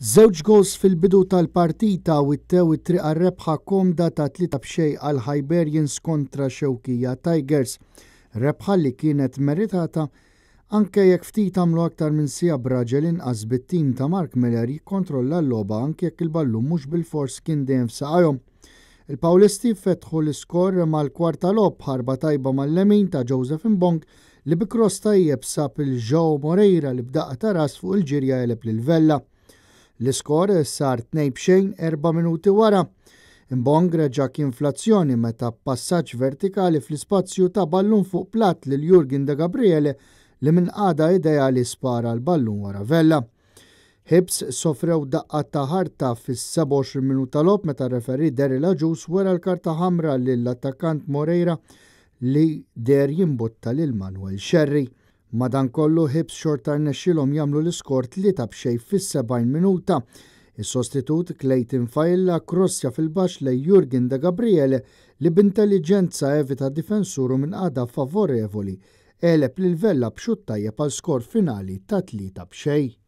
Żewġ goals fil-bidu tal-partita wittew it-triq għar-rebħa komda ta' 3-0 għal Hibernians kontra Xewkija Tigers. Rebħa li kienet meritata anke jekk ftit għamlu aktar minn siegħa b'raġel inqas bit-tim ta' Mark Miller jikkontrolla l-logħba anke jekk il-ballun mhux bilfors kien dejjem f'saqajhom. Il-Pawlisti fetħu l-iskor mal-kwarta logħob b'ħarba tajba mal-lemin ta' Joseph Mbong li bi cross tajjeb sab lil Joao Moreira li b'daqqa ta' ras fuq il-ġirja għeleb lil Vella. L-iskor sar 2-0 4 minuti wara. Mbong reġa' kien fl-azzjoni meta passaġġ vertikali fl-ispazju ta ballun fuq plat lil Jurgen De Gabriele li minn qagħda ideali spara l-ballun wara Vella. Hibs sofrew daqqa ta' ħarta fis-27 minuta logħob meta referee Daryl Agius wera l-karta ħamra lill-attakkant Moreira li deher jimbutta lil Manuel Sherry. Madankollu Hibs xorta rnexxilhom jagħmlu l-iskor 3-0 fis-70 minuta. Is-sostitut Clayton Failla krossja fil-baxx lejn Jurgen De Gabriele li b'intelliġenza evita difensur u minn qagħda favorevoli għeleb lil Vella b'xutt tajjeb għal skor finali ta' 3-0.